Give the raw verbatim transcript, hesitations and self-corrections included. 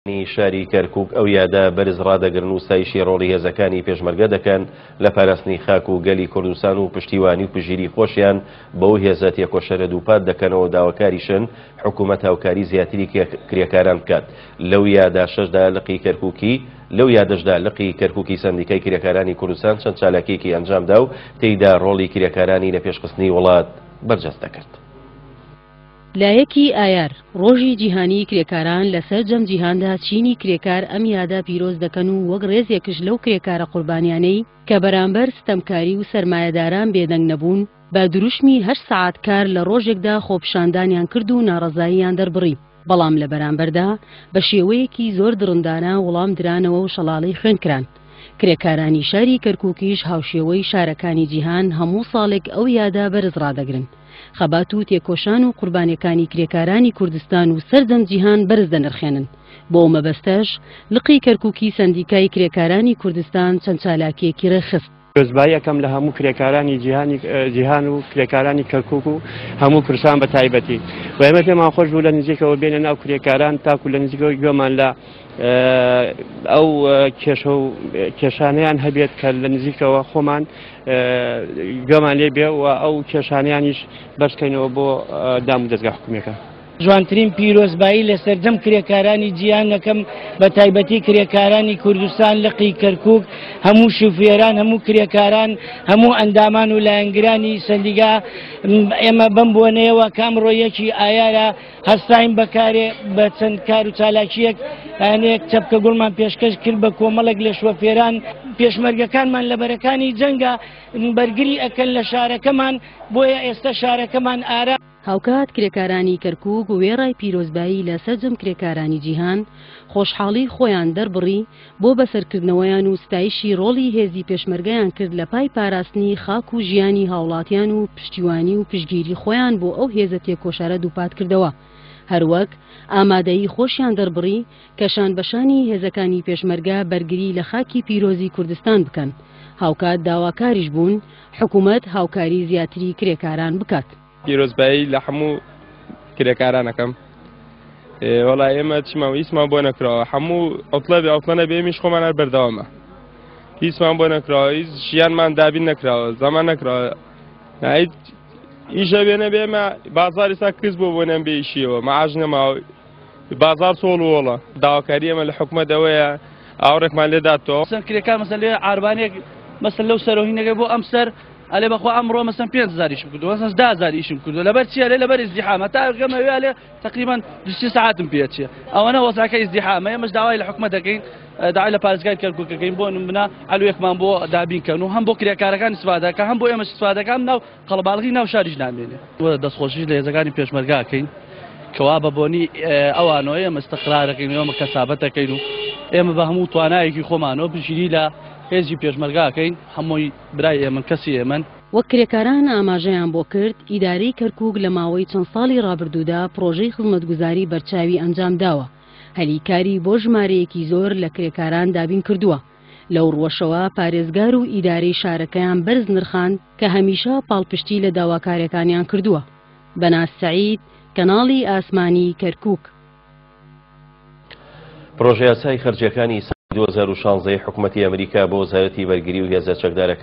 شاری کەرکوک ئەو یادە بەرز ڕادەگرن و ستایشی ڕۆڵی هێزەکانی پێشمەرگە دەکەن لە پاراستنی خاک و گەلی کوردستان و پشتیوانی و پشتگیری خۆشیان بەو هێزە تێکۆشەرە دووپات دەکەنەوە. داواکاریشن حکوومەت هاوکاری زیاتری کرێکاران بکات. لەو یاداشەشدا لقی کەرکوکی لەو یادەشدا لقی کەرکوکی سەندیکای کرێکارانی کوردستان چەند چالاکیەکی ئەنجامدا و تێیدا ڕۆڵی کرێکارانی لە پێشخستنی وڵات بەرجەستە کرد. لە یەکی ئایار ڕۆژی جیهانی کرێکاران لە سەرجەم جیهاندا چینی کرێکار ئەم یادە پیرۆز دەکەن و وەک ڕێزێکش لەو کرێکارە قوربانیانەی کە بەرامبەر ستەمکاری و سەرمایەداران بێدەنگ نەبوون بە دروشمی هەشت سەعات کار لە ڕۆژێکدا خۆپیشاندانیان کرد و ناڕەزاییان دەربڕی، بەڵام لە بەرامبەردا بە شێوەیەکی زۆر دڕندانە وەڵام درانەوە و شەڵاڵەی خوێن کران. کرێکارانی شاری کەرکووکیش هاوشێوەی شارەکانی جیهان هەموو ساڵێک ئەو یادە بەرز ڕادەگرن. خەبات و تێکۆشان و قوربانیەکانی کرێکارانی کوردستان و سەرجەم جیهان بەرز دەنرخێنن. بۆ مەبەستەش لقی کەرکووکی سەندیکای کرێکارانی کوردستان چەند چالاکیەکی ڕێکخست. پیرۆزباییەکەم لە هەموو کرێکارانی جیهانی جیهان و کرێکارانی کەرکووک و هەموو کوردستان بە تایبەتی و ئێمە پێمان خۆش بوو لە نزیکەوە بێنە ناو کرێکاران تاکو لە نزیکەوە گوێمان لە ئەو کێشە و کێشانیان هەبێت کە لە نزیکەوە خۆمان گوێمان لێ بێ و ئەو کێشانیانیش بەرزکەینەوە بۆ دام و دەستگا حکومیەکە. جوانترین پیرۆزبایی لە سەرجەم کرێکارانی جیهانەکەم بە تایبەتی کرێکارانی کوردستان لقی کەرکوک، هەموو شوفێران، هەموو کرێکاران، هەموو ئەندامان و لایەنگرانی سەندیگا. ئێمە بەم بۆنەیەوە کە ئەمڕۆ یەکی ئایارە هەستاین بەکارێ بە چەند کار و چالاکیەک ئەنێک چەپکە گوڵمان پێشکەش کرد بە کۆمەڵێک لە شوفێران. پێشمەرگەکانمان لە بەرەکانی جەنگە بەرگری ئەکەن لە شارەکەمان، بۆیە ئێستا شارەکەمان ئارا. هاوکات کرێکارانی کەرکوک وێڕای پیرۆزبایی لە سەرجەم کرێکارانی جیهان خۆشحاڵی خۆیان دەربڕی بۆ بەسەرکردنەوەیان و ستایشی ڕۆڵی هێزی پێشمەرگەیان کرد لە پای پاراستنی خاک و ژیانی هاوڵاتیان و پشتیوانی و پشتگیری خۆیان بۆ ئەو هێزە تێکۆشارە دووپات کردەوە. هەروەک ئامادەیی خۆشیان دەربڕی کە شانبەشانی هێزەکانی پێشمەرگە بەرگری لە خاکی پیرۆزی کوردستان بکەن. هاوکات داواکاریش بوون حکوومەت هاوکاری زیاتری کرێکاران بکات. پیرۆزبایی لە هەموو کرێکارانەکەم. وەڵا ئێمە چیمان هیچمان بۆ نەکراوە، هەموو عوتڵە بێ عوتڵە نەبێ ئێمیش خۆمان هەر بەردەوامە، هیچمان بۆ نەکراوە، هیچ ژیانمان دابین نەکراوە، زەمان نەکراوە، هیچ ئیشە بێ نەبێ ئێمە بازار ئێستا کز بۆ بۆ نەم بێ ئیشیەوە، مەعاش نەماوە، بازار چۆڵ و وۆڵە. داواکاری ئێمە لە حکومەت ئەوەیە ئاوڕێکمان لێداتەوە. کرێکار مەسەلەن لێ عاربانێک مەسەلەن لەو سەرۆهینەکەی بۆ ئەم سەر ئەلێ بەخوا ئەمڕۆ مەسەن پێنج هەزار ئیشم کردووە، مەسەن دە هەزار ئیشم کردووە. لەبەر چییە؟ لێ لەبەر ئیزدیحامە. تا گەمەوێ ئەلێ تقریبا دوو سێ سەعاتم پێچێ. ئەوەنە وەزعەکە ئیزدیحامە. ئێمەش داوای لە حکومەت دەکەین، داوای لە پارێزگای کەرکوک دەکەین بۆ نمونە عەلوێکمان بۆ دابین کەن و هەم بۆ کرێکارەکان ئیستفادەکە، هەم بۆ ئێمەش ئیستفادەکە، ناو قەڵەباڵغی ناو شاریش نامێنێ. دەستخۆشیش لە هێزەکانی پێشمەرگا ئەکەین کەوا بە بۆنی ئەوانەوە ئێمە ئیستقرارەکەین و ئێمە کەسابەتەکەین و ئێمە بە هەموو توانایەکی خۆمانەوە پشتگیری لە هێزی پێشمەرگاکەین. هەمووی برای ئێمن، کەسی ئێمن. وەک کرێکاران ئاماژەیان بۆ کرد، ئیدارەی کەرکوک لە ماوەی چەند ساڵی ڕابردوودا پرۆژەی خزمەتگوزاری بەرچاوی ئەنجام داوە، هەلیکاری بۆ ژمارەیەکی زۆر لە کرێکاران دابین کردووە. لەو ڕووەشەوە پارێزگار و ئیدارەی شارەکەیان بەرز نرخاند کە هەمیشە پاڵپشتی لە داواکاریەکانیان کردووە. بەناز سەعید، کەناڵی ئاسمانی کەرکوک. پرۆژەیاسای خەرجیەکانی ساڵی دوو هەزار و شانزە حکوومەتی ئەمریکا بۆ وەزارەتی بەرگری و هێزە چەکدارەکان